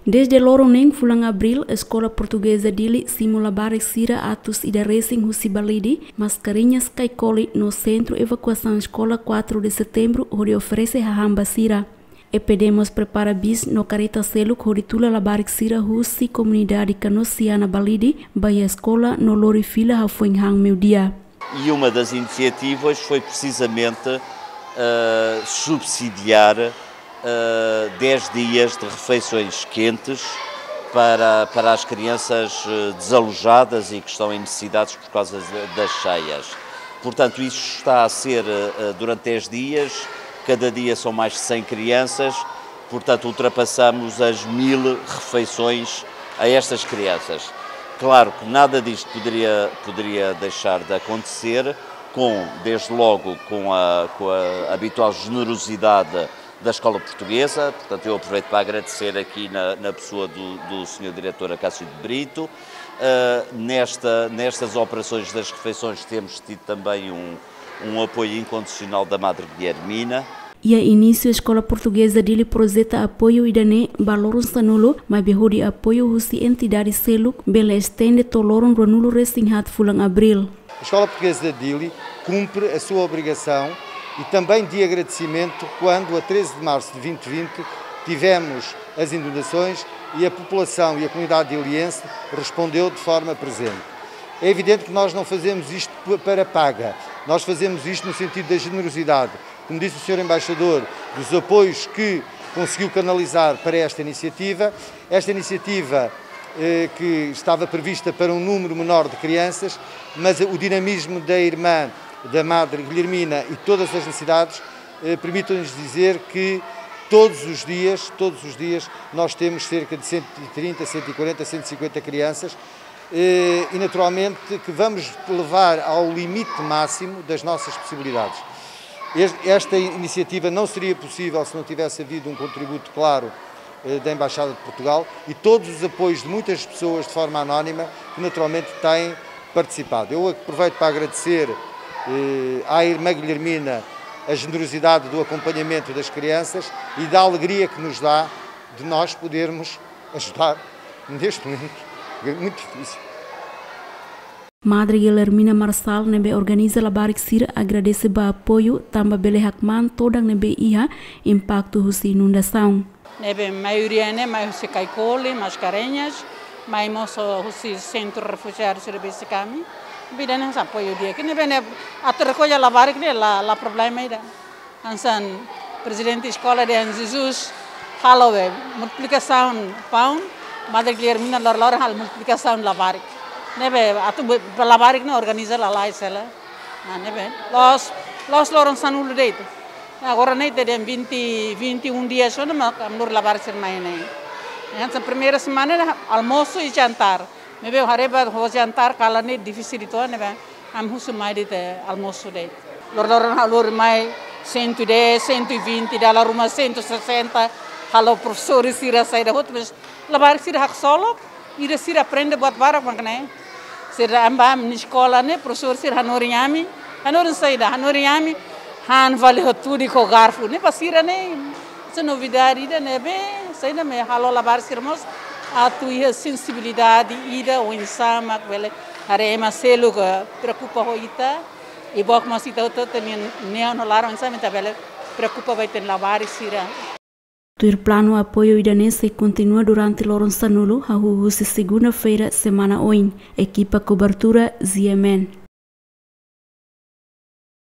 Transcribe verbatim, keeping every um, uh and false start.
Dezde loron neen fulan Abríl, Eskola Portugeza Dili simu labarik sira atus ida resin husi Balide, Mascarenhas, Caicoli no Sentru Evakuasaun Eskola quatro de Setembro hodi oferese hahán ba sira. E P D mós prepara bis no kareta seluk hodi tula labarik sira husi komunidade Kanosiana, Balide, ba iha eskola no lori fila hafoin han meiudia. E uma das iniciativas foi precisamente, eh, subsidiar, eh, dez dias de refeições quentes para, para as crianças, eh, desalojadas e que estão em necessidades por causa de, das cheias. Portanto, isso está a ser, eh, durante dez dias, cada dia são mais de cem crianças, portanto, ultrapassamos as mil refeições a estas crianças. Claro que nada disto poderia, poderia deixar de acontecer, com, desde logo, com a, com a habitual generosidade da Escola Portuguesa. Portanto, eu aproveito para agradecer aqui na, na pessoa do, do senhor diretor Acácio de Brito. Ah, nesta, nestas operações das refeições temos tido também um, um apoio incondicional da Madre Guilhermina. Iha inísiu, Eskola Portugeza Dili projeta apoiu ida-ne'e ba loron sanulu, maibé hodi apoiu husi entidade seluk bele estende to'o loron ruanulu resin haat fulan Abríl. A Escola Portuguesa de Dili cumpre a sua obrigação e também de agradecimento quando, a treze de março de vinte e vinte, tivemos as inundações e a população e a comunidade diliense respondeu de forma presente. É evidente que nós não fazemos isto p-, para paga, nós fazemos isto no sentido da generosidade. Como disse o senhor Embaixador, dos apoios que conseguiu canalizar para esta iniciativa. Esta iniciativa, eh, que estava prevista para um número menor de crianças, mas o dinamismo da irmã, da Madre Guilhermina e todas as necessidades, eh, permitem-nos dizer que todos os dias, todos os dias, nós temos cerca de cento e trinta, cento e quarenta, cento e cinquenta crianças, eh, e naturalmente que vamos levar ao limite máximo das nossas possibilidades. Es-, esta iniciativa não seria possível se não tivesse havido um contributo claro, eh, da Embaixada de Portugal e todos os apoios de muitas pessoas de forma anónima que naturalmente têm participado. Eu aproveito para agradecer, eh, à irmã Guilhermina a generosidade do acompanhamento das crianças e da alegria que nos dá de nós podermos ajudar neste momento muito difícil. Madre Guilhermina Marçal, ne'ebé organiza labarik sira, agradese ba apoiu, tanba bele hakmaan todan ne'ebé iha impaktu husi inundasaun. Ne'ebé maioria ne'e mai husi Caicoli, Mascarenhas, mai mós husi sentru refujiadu sira besik ami. Bida ne'e hanesan apoiu di'ak. Ne'ebé ne'e atu rekolla labarik ne'e la, la problema ida. Hanesan prezidente eskola dehan, Jesus halo be multiplikasaun paun, Madre Guilhermina lor-loron halo multiplikasaun labarik. Ne'ebé atu be, be labarik ne'e organiza lalais hela. Ah, ne'ebé loos, loos loron sanulu de'it. Agora ne'e ita dehan vinte, vinte e um dias ona, mas ami lori labarik sira mai ne'e. Hanesan primeira semana ne'e almosu i jantar. Maibé haree ba ho jantar kalan ne'e difisil uitoan, ne'ebé ami husu mai de'it almosu de'it. Lor-loron ha'u lori mai cento e dez, cento e vinte, dala ruma cento e sessenta, halo profesór sira saida hotu, mas labarik sira haksolok, ida sira aprende buat barak mak ne'e. Sira ami bá ami-nia eskola ne'e, profesór sira hanorin ami, hanorin saida, hanorin ami, han fali ho tudik ho garfu, ne'e ba sira ne'e, hanesan novidade ida ne'ebé, saida mak halo labarik sira mós atu iha sensibilidade ida oinsá mak bele haree ema seluk preokupa ho ita, i book mós ita hotu-hotu nia neon ho laran oinsá mak ita bele preokupa ba ita-nia labarik sira. Tuir planu, apoiu ida-ne'e sei kontinua durante loron sanulu, hahú husi segunda-feira semana oin. Ekipa kobertura, Z M N.